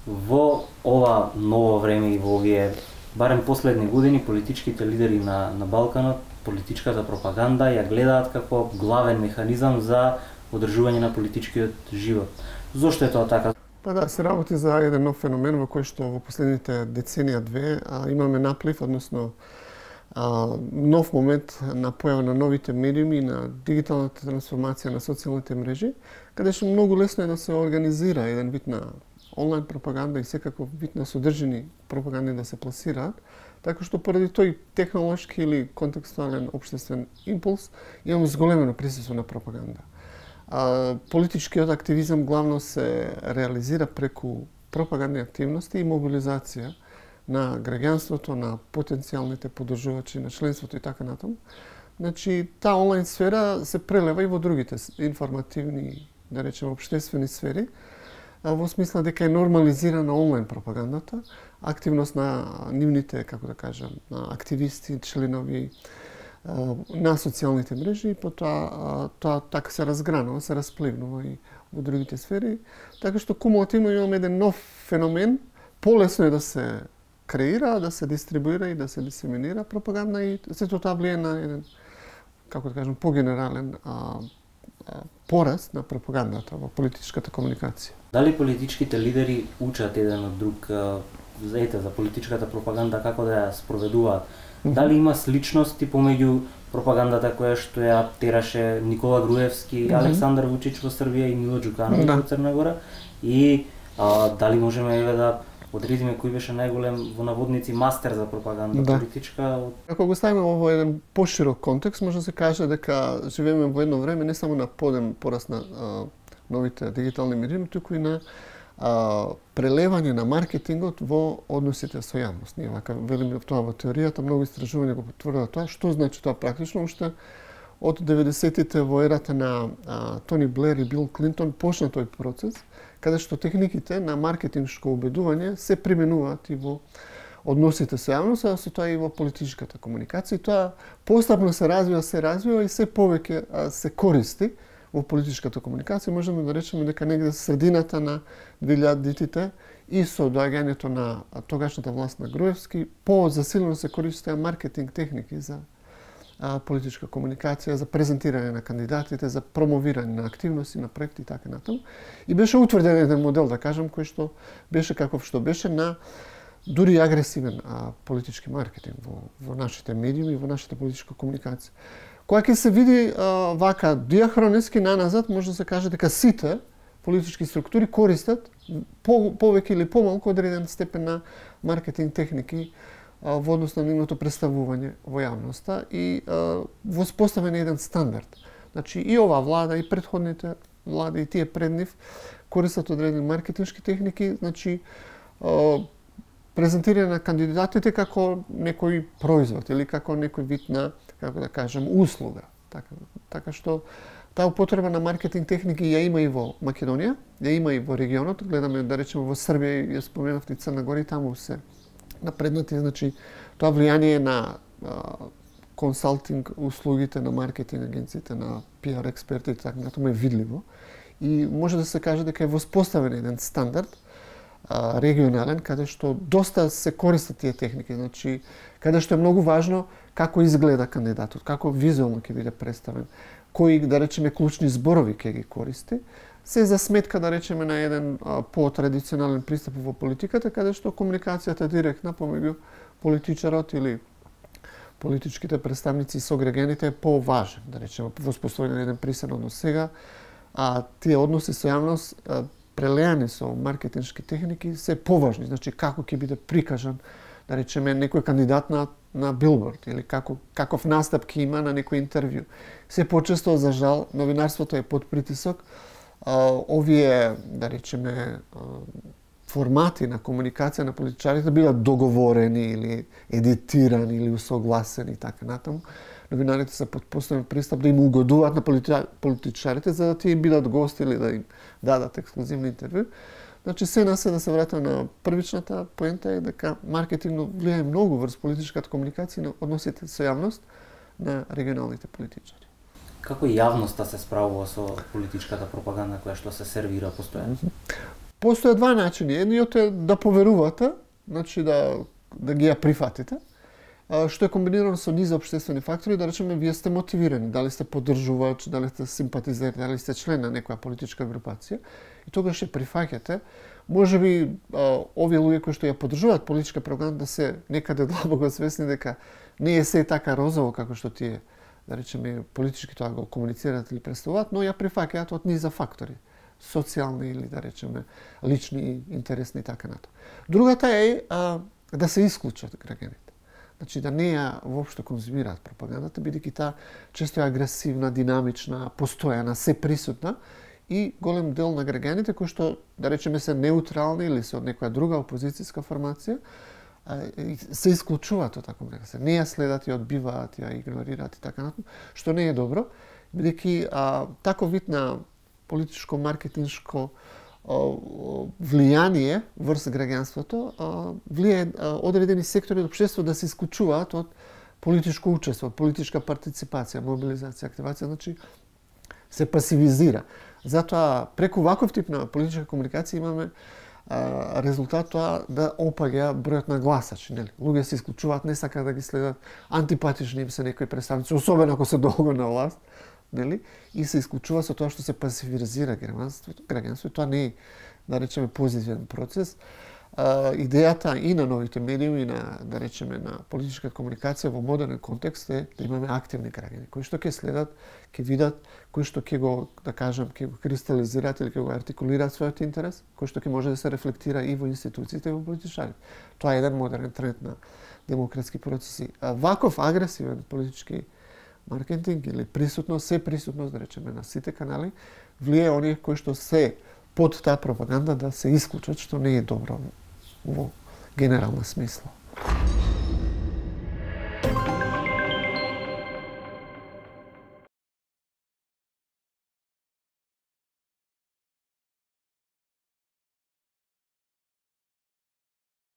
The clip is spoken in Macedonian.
Во ова ново време и во овие барем последни години политичките лидери на Балканот, политичката пропаганда ја гледаат како главен механизам за одржување на политичкиот живот. Зошто е тоа така? Па да, се работи за еден нов феномен во кој што во последните деценија-две имаме наплив, односно нов момент на појава на новите медиуми, на дигиталната трансформација на социјалните мрежи, каде што многу лесно е да се организира еден вид на онлайн пропаганда и секаков вид на содржини пропаганди да се пласираат, така што поради тој технолошки или контекстуален општествен импулс имаме зголемено присуство на пропаганда. Политичкиот активизам главно се реализира преку пропагандни активности и мобилизација на граѓанството, на потенцијалните поддржувачи на членството и така натаму. Значи, таа онлайн сфера се прелева и во другите информативни, да речеме, општествени сфери, во смисла дека е нормализирана онлайн пропагандата, активност на нивните, како да кажам, активисти, членови на социјалните мрежи, и потоа тоа така се разгранува, се распливнува и во другите сфери, така што кумулативно имаме еден нов феномен, полесно е да се креира, да се дистрибуира и да се дисеминира пропаганда, и сето тоа влие на еден, како да кажам, погенерален пораст на пропагандата во политичката комуникација. Дали политичките лидери учат еден од друг за политичката пропаганда, како да ја спроведуваат? Дали има сличности помеѓу пропагандата која што ја тераше Никола Груевски, Александар Вучич во Србија и Мило Џукановиќ во Црна Гора? И дали можеме да одредиме кој беше најголем во наводници мастер за пропаганда политичка? Ако го ставиме во еден поширок контекст, може да се каже дека живееме во едно време не само на пораст на новите дигитални медии, туку и на прелевање на маркетингот во односите со јавност. Ние вака велиме тоа во теоријата, многу истражувања го потврдува тоа. Што значи тоа практично? Уште од 90-тите во ерата на Тони Блер и Бил Клинтон почна тој процес, каде што техниките на маркетингшко убедување се применуваат и во односите со јавност, а со тоа и во политичката комуникација. И тоа постапно се развива и се повеќе се користи во политичката комуникација. Можеме да речеме дека негде средината на 2000-тите и со доаѓањето на тогашната власт на Груевски, по-засилено се користеа маркетинг техники за политичка комуникација, за презентирање на кандидатите, за промовирање на активности, на проекти и така натаму. И беше утврден еден модел, да кажам, кој што беше каков што беше на дури агресивен политички маркетинг во нашите медиуми и во нашата политичка комуникација. Кога ќе се види вака диахронетски наназад, може да се каже дека сите политички структури користат повеќе или помалку одреден степен на маркетинг техники во однос на нивното представување во јавноста и воспоставен еден стандард. Значи и оваа влада, и претходните влади, и тие пред нив користат одредени маркетиншки техники, значи презентирање на кандидатите како некој производ или како некој вид на, како да кажем, услуга. Така што таа употреба на маркетинг техники ја има и во Македонија, ја има и во регионот. Гледаме, да речеме, во Србија, ја споменавте и Црна Гора, и таму се напреднати, значи тоа влијание на консалтинг услугите на маркетинг агенциите, на PR експертите, така натаму е видливо. И може да се каже дека е воспоставен еден стандард регионален, каде што доста се користат тие техники, значи каде што е многу важно како изгледа кандидатот, како визуелно ќе биде представен, кои, да речеме, клучни зборови ќе ги користи, се за сметка, да речеме, на еден по-традиционален пристап во политиката, каде што комуникацијата директна помеѓу политичарот или политичките представници со граѓаните е по-важен, да речеме, воспоставен еден присен однос. Сега, тие односи со јавност прелеани со маркетиншки техники се поважни, значи како ќе биде прикажан, да речеме, некој кандидат на билборд или каков настап ќе има на некој интервју. Се почесто, за жал, новинарството е под притисок. Овие, да речеме, формати на комуникација на политичарите бидат договорени или едитирани или усогласени и така натаму. Новинарите се под постојан пристап да им угодуваат на политичарите за да тие бидат гости или да им дадат ексклузивни интервју. Значи, се да се вратам на првичната поента е дека маркетингот влијае многу врз политичката комуникација и на односите со јавност на регионалните политичари. Како јавноста се справува со политичката пропаганда која што се сервира постојано? Постојат два начини. Едниот е да поверувате, значи да ги ја прифатите, што е комбинирано со низ општествени фактори, да речеме вие сте мотивирани, дали сте поддржувач, дали сте симпатизер, дали сте член на некоја политичка групација, и тогаш ќе прифаќате. Можеби овие луѓе кои што ја поддржуваат политичка пропаганда се некаде длабоко свесни дека не е се така розово како што тие, да речеме, политички тоа го комуницираат или представуваат, но ја прифаќаат од низа фактори, социјални или да речеме лични, интересни и така натаму. Другата е да се исклучат граѓаните. Значи да не ја воопшто конзумираат пропагандата, бидејќи таа често е агресивна, динамична, постојана, се присутна и голем дел на граѓаните кои што да речеме се неутрални или се од некоја друга опозицијска формација се исклучуваат од таква мрега. Не ја следат, ја одбиваат, ја игнорираат и така натаму, што не е добро, бидејќи таков вид на политичко-маркетиншко влијание врз граѓанството влијае одредени сектори од општеството да се исклучуваат од политичко учество, од политичка партиципација, мобилизација, активација, значи се пасивизира. Затоа преку ваков тип на политичка комуникација имаме резултат тоа да опаѓа бројот на гласачи, нели? Луѓе се исклучуваат, не сакаат да ги следат, антипатични им се некои представници, особено ако се долго на власт, нели? И се исклучува со тоа што се пасивизира граѓанството. Тоа не е, да речеме, позитивен процес. Идејата и на новите медиуми, и на, да речеме, на политичка комуникација во модерен контекст е да имаме активни граѓани, кои што ќе следат, ќе видат, кои што ќе го, да кажем, ќе го кристализираат или ќе го артикулираат својот интерес, кои што ќе може да се рефлектира и во институциите и во политичарите. Тоа е еден модерен тренд на демократски процеси. Ваков агресивен политички маркетинг или присутност, да речеме, на сите канали, влијае оние кои што се под таа пропаганда да се исклучат, што не е добро во генерална смисла.